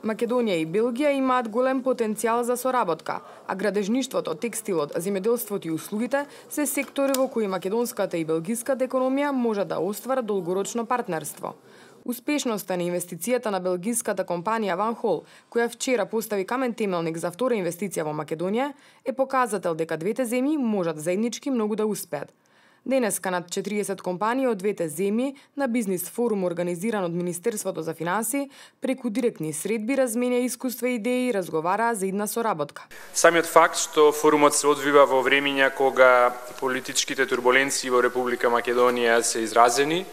Македонија и Белгија имаат голем потенцијал за соработка, а градежништвото, текстилот, земјоделството и услугите се сектори во кои македонската и белгиската економија може да остварат долгорочно партнерство. Успешноста на инвестицијата на белгиската компанија Van Hol, која вчера постави камен темелник за втора инвестиција во Македонија, е показател дека двете земји можат заеднички многу да успеат. Денеска над 40 компании од двете земји на бизнис форум организиран од Министерството за финансии преку директни средби разменја искуства и идеи и разговараа за идна соработка. Самиот факт што форумот се одвива во времиња кога политичките турбуленции во Република Македонија се изразени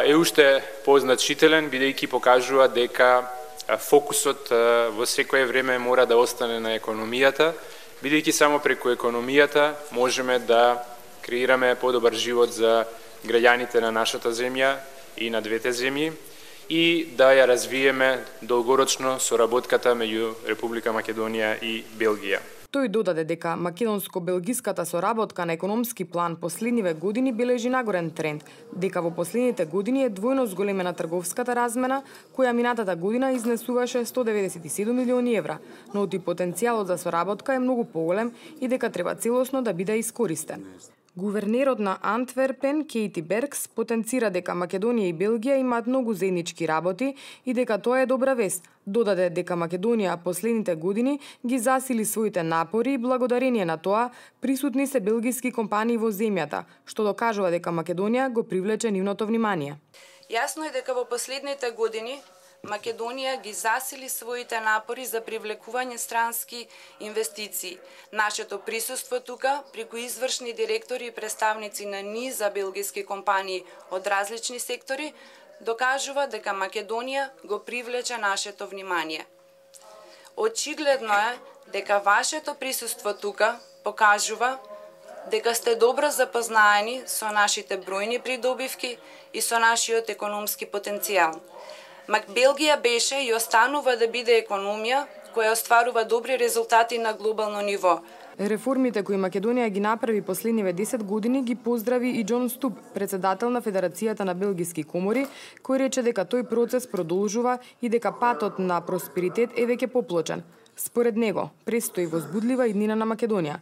е уште позначителен, бидејќи покажува дека фокусот во секое време мора да остане на економијата, бидејќи само преку економијата можеме да креираме подобар живот за граѓаните на нашата земја и на двете земји и да ја развиеме долгорочно соработката меѓу Република Македонија и Белгија. Тој додаде дека македонско-белгиската соработка на економски план последниве години бележи нагорен тренд, дека во последните години е двојно зголемена трговската размена, која минатата година изнесуваше 197 милиони евра, но оти потенцијалот за соработка е многу поголем и дека треба целосно да биде искористен. Гувернерот на Антверпен, Кейти Беркс, потенцира дека Македонија и Белгија имаат многу заеднички работи и дека тоа е добра вест. Додаде дека Македонија последните години ги засили своите напори и благодарение на тоа присутни се белгиски компании во земјата, што докажува дека Македонија го привлече нивното внимание. Јасно е дека во последните години Македонија ги засили своите напори за привлекување странски инвестиции. Нашето присуство тука, преку извршни директори и представници на низа белгиски компании од различни сектори, докажува дека Македонија го привлече нашето внимание. Очигледно е дека вашето присуство тука покажува дека сте добро запознаени со нашите бројни придобивки и со нашиот економски потенцијал. Белгија беше и останува да биде економија која остварува добри резултати на глобално ниво. Реформите кои Македонија ги направи последниве 10 години ги поздрави и Џон Ступ, председател на Федерацијата на белгиски комори, кој рече дека тој процес продолжува и дека патот на просперитет е веќе поплочен. Според него, престои возбудлива иднина на Македонија.